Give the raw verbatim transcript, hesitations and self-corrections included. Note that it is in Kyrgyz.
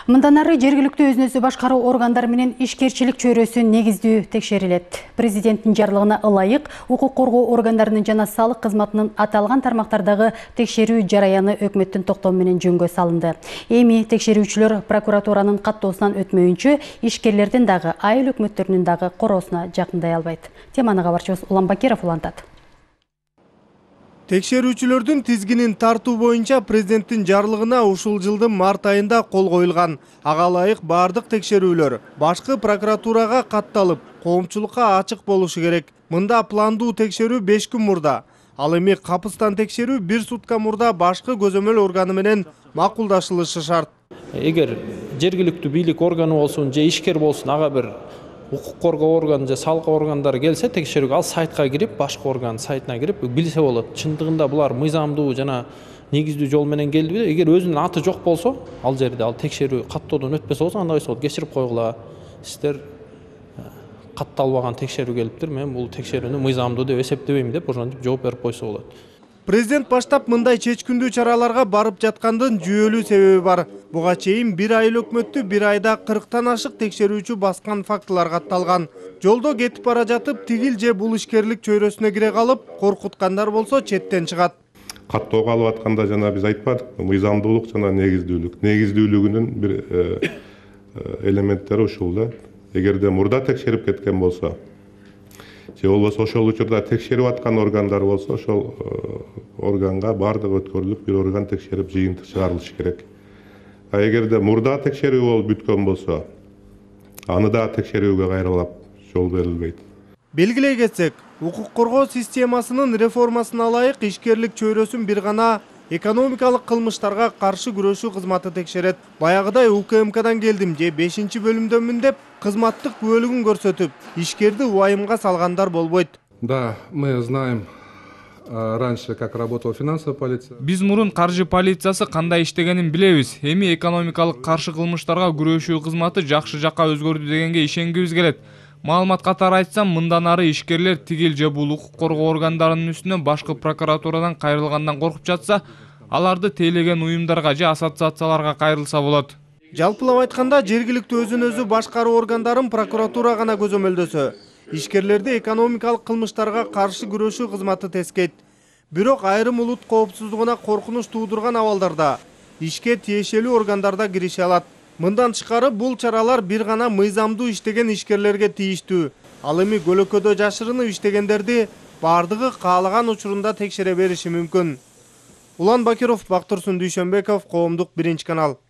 Мындан ары жергиликтүү өзүн өзү башкаруу органдары менен ишкерчилик чөйрөсү негиздүү текшерилет. Президенттин жарлыгына ылайык укук коргоо органдарынын жана салык кызматынын аталган тармактардагы текшерүү жараяны өкмөттүн токтому менен жөнгө салынды. Эми текшерүүчүлөр прокуратуранын каттоосунан өтмөйүнчө ишкерлердин дагы айыл өкмөттөрүнүн дагы короосуна жакындай албайт. Теманы кабарчыбыз Улан Бакиров улантат. Текшерүүчүлөрдүн тизгинин тартуу боюнча президенттин жарлыгына ушул жылдын март айында кол коюлган. Ага ылайык бардык текшерүүлөр башкы прокуратурага катталып, коомчулукка ачык болушу керек. Мында пландуу текшерүү беш күн мурда. Ал эми капыстан текшерүү бир сутка мурда башкы көзөмөл органы менен макулдашылышы шарт. Эгер жергиликтүү бийлик органы болсун, же ишкер болсун, ага бир укук коргоо органы же салык органдары келсе текшерүүгө, ал сайтка кирип, башкы орган сайтына кирип билсе болот. Чындыгында булар мыйзамдуу жана негиздүү жол менен келдиби? Эгер өзүнүн аты жок болсо, ал жерде ал текшерүү каттоодон өтпөсө болсо, анда болсо кечирип койгула. Сиздер катталбаган текшерүү келиптир. Мен бул текшерүүнү мыйзамдуу деп эсептебейм деп ошентип жооп берип койсо болот. Президент баштап мындай чечкиндүү чараларга барып жаткандын жүйөлүү себеби бар. Буга чейин бир айыл өкмөттү бир айда кырктан ашык текшерүүчү баскан фактылар катталган. Жолдо кетип бара жатып тигил же бул ишкерлик чөйрөсүнө кире калып, коркуткандар болсо четтен чыгат. Каттоого алып атканда жана биз айтпадыкпы, мыйзамдуулук жана негиздүүлүк. Негиздүүлүгүнүн бир элементтери ушул да. Эгерде мурда текшерип кеткен болсо, же болбосо ошол учурда текшерип аткан органдар болсо, ошол органга бардыгы өткөрүлүп, бир орган текшерип жыйынтык чыгарылышы керек. А эгерде мурда текшерүү болуп бүткөн болсо, аны да текшерүүгө кайрылап жол берилбейт. Белгилей кетсек, укук коргоо системасынын реформасына ылайык ишкерлик чөйрөсүн бир гана экономикалык кылмыштарга каршы күрөшүү кызматы текшерет. Баягыдай У К М Кдан келдим же бешинчи бөлүмдөнмүн деп кызматтык күбөлүгүн көрсөтүп, ишкерди убайымга салгандар болбойт. Да, мы знаем раньше, как работала финансовая полиция. Биз мурун каржы полициясы кандай иштегенин билебиз. Эми экономикалык каршы кылмыштарга күрөшүү кызматы жакшы жакка өзгөрдү дегенге ишенгибиз келет. Маалымат катары айтсам, мындан ары ишкерлер тигил же бул укук коргоо органдарынын үстүнө башкы прокуратурадан кайрылгандан коркуп жатса, аларды тейлеген уюмдарга же ассоциацияларга кайрылса болот. Жалпылап айтканда, жергиликтүү өзүн өзү башкаруу органдарын прокуратура гана көзөмөлдөсө, ишкерлерди экономикалык кылмыштарга каршы күрөшүү кызматы тескейт. Бирок айрым улут коопсуздугуна коркунуч туудурган абалдарда ишке тиешелүү органдарда кирише алат. Мындан тышкары бул чаралар бир гана мыйзамдуу иштеген ишкерлерге тийиштүү. Ал эми көлөкөдө жашырынып иштегендерди бардыгы каалаган учурунда текшере бериши мүмкүн. Улан Бакиров, Бактурсун Дүйшөнбеков, Коомдук биринчи канал.